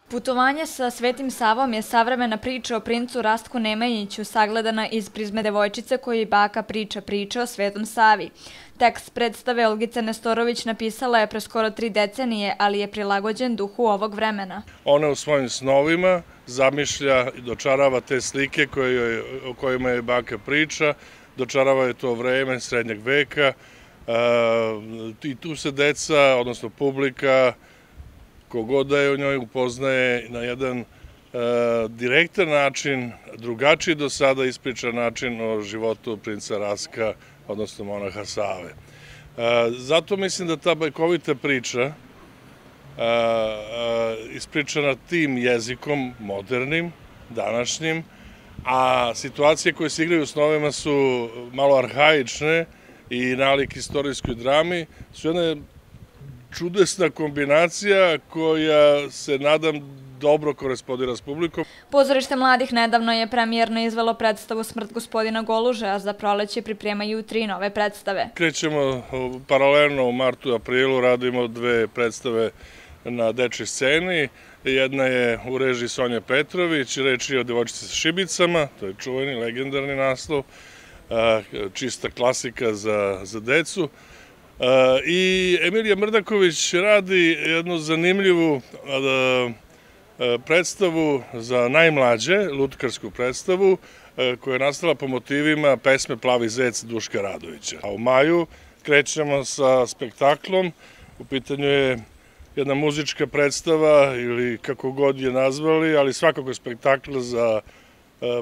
Putovanje sa Svetim Savom je savremena priča o princu Rastku Nemanjiću, sagledana iz prizme devojčice koju baka priča priče o Svetom Savi. Tekst predstave Olgica Nestorović napisala je pre skoro 3 decenije, ali je prilagođen duhu ovog vremena. Ona u svojim snovima zamišlja i dočarava te slike o kojima je baka priča, dočarava je to vreme srednjeg veka i tu se deca, odnosno publika, kogod da je u njoj upoznaje na jedan direktan način, drugačiji do sada ispričan način o životu princa Rastka, odnosno monaha Save. Zato mislim da ta bajkovita priča, ispričana tim jezikom, modernim, današnjim, a situacije koje se igraju u snovima su malo arhaične i nalik istorijskoj drami, su jedna čudesna kombinacija koja se, nadam, dobro korespondira s publikom. Pozorište mladih nedavno je premijerno izvelo predstavu Smrt gospodina Goluže, a za proleće pripremaju 3 nove predstave. Krećemo paralelno u martu i aprilu, radimo 2 predstave na dečjoj sceni. Jedna je u režiji Sonje Petrović, reč je o Devojčici sa šibicama, to je čuveni, legendarni naslov, čista klasika za decu. I Emilija Mrdaković radi jednu zanimljivu predstavu za najmlađe, lutkarsku predstavu, koja je nastala po motivima pesme Plavi zec Duška Radovića. A u maju krećemo sa spektaklom, u pitanju je jedna muzička predstava ili kako god je nazvali, ali svakako spektakl za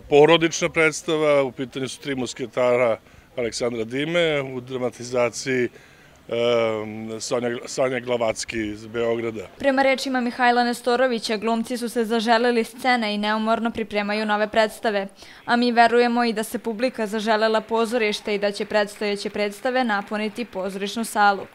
porodična predstava, u pitanju su 3 musketara Aleksandra Dime, u dramatizaciji Sanja Glavacki iz Beograda. Prema rečima Mihajla Nestorovića, glumci su se zaželeli scene i neumorno pripremaju nove predstave. A mi verujemo i da se publika zaželela pozorište i da će predstojeće predstave napuniti pozorišnu salu.